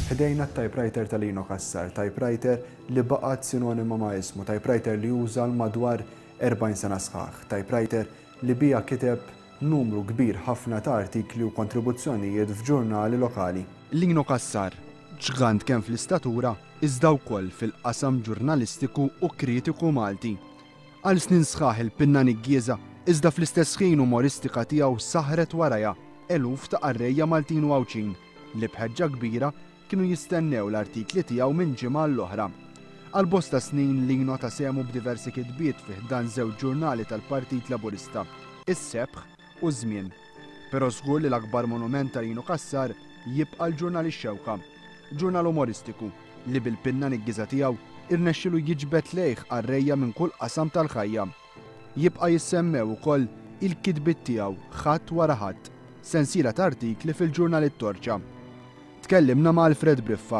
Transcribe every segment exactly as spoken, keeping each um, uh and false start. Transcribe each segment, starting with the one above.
Ħdejna typewriter ta' Lino Cassar, typewriter li baqgħet sinonima ma' ismu, typewriter li uża madwar erbgħin sena sħaħ, typewriter li biha kiteb numru kbir ħafna ta' artikli u kontribuzzjonijiet f'ġurnali lokali. Lino Cassar, ġgant kemm fl-istatura iżda wkoll fil-qasam ġurnalistiku u kritiku Malti. Għal snin sħaħ il-pinna niggieża iżda fl-istess ħin umoristika tiegħu saħret warajha eluf ta' qarrejja Maltin u Għawdxin li bħeġġa kbira kienu jistennew l-artikli tiegħu minn ġimgħa l-oħra. Għal bosta snin Lino ta sehmu b'diversi kitbiet fi ħdan żewġ ġurnali tal-Partit Laburista, Is-Sebħ u Żmien. Però żgur li l-akbar monument ta' Lino Cassar jibqa' l-ġurnal Ix-Xewka, ġurnal umoristiku li bil-pinna niggiża tiegħu irnexxielu jiġbed lejh qarrejja minn kull qasam tal-ħajja. Jibqa' jissemmew ukoll il-kitbiet tiegħu ħadd wara ħadd, sensiela ta' artikli fil-ġurnal It-Torċa. Tkellimna ma' Alfred Briffa,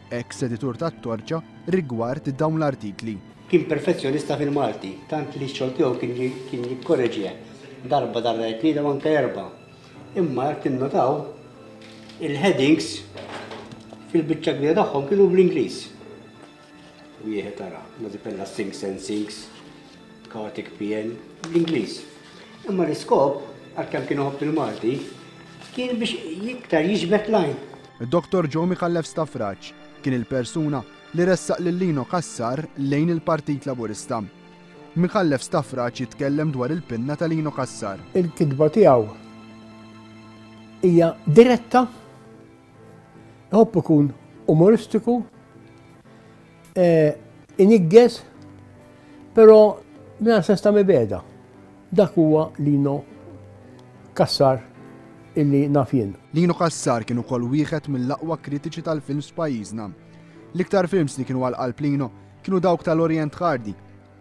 ex-editur tat-Torċa, rigward dawn l-artikli. Kien perfezzjonista fil-Malti, tant li x-xogħol tiegħu kien jikkorreġih darba, darba, tlieta u anke erba'. Imma jekk tinnotaw, il-headings fil-biċċa kbira tagħhom kienu bl-Ingliż. Wieħed tara, Mazipella Sinks and Sinks, Kartik P N, bl-Ingliż. Imma l-iskop, għalkemm kienu ħobb il-Malti, kien biex iktar jiġbed lajn. Doktor Joe Micallef Stafrace kien il-persuna li ressaq lil Lino Cassar lejn il-Partit Laburista. Micallef Stafrace jitkellem dwar il-pinna ta' Lino Cassar. Il-kitba tiegħu hija diretta, iħobb ikun umoristiku, eh, iniggeż, però mingħajr sens ta' mibegħda. Dak huwa Lino Cassar illi naf jien. Lino Cassar kien ukoll wieħed mill-aqwa kritiċi tal-films f'pajjiżna. L-iktar films li kienu għal qalb Lino kienu dawk tal-Orient Hardy.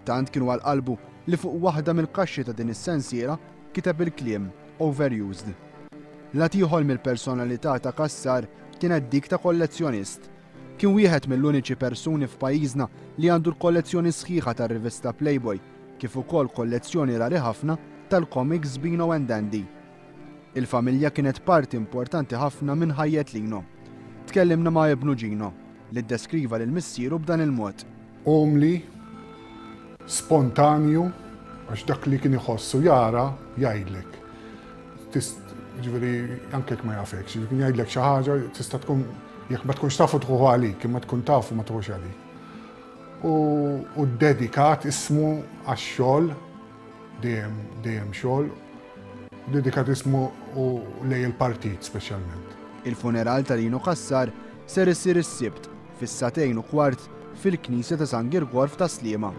Tant kienu għal qalbu li fuq waħda mill-kaxxi ta' din is-sensiela kiteb il-kliem Overused. Lat ieħor mill-personalità ta' Cassar kienet dik ta' kollezzjonist. Kien wieħed mill-uniċi persuni f'pajjiżna li għandu l-kollezzjoni sħiħa tar-rivista Playboy, kif ukoll kollezzjoni rari ħafna tal-comics Beano and Andy. Il-familja kienet parti importanti ħafna minn ħajjet Lino. Tkellimna ma' ibnu Gino, li ddeskriva lil missieru b'dan il-mod. Umli, spontanju, għax dak li kien iħossu jara jgħidlek. Ġifieri, anke jekk ma jafekx, ġifieri kien jgħidlek xi ħaġa, tista' tkun, jekk ma tkunx tafu tħuħu għalik, imma tkun tafu ma tħuħux għalik. U, u dedikat ismu għax-xogħol, dejjem, dejjem xogħol, dedikat ismu u lej il-partit speċjalment. Il-funeral ta' Lino Cassar ser isir is-Sibt fis-sagħtejn u kwart fil-Knisja ta' San Girgor f'Tas-Sliema.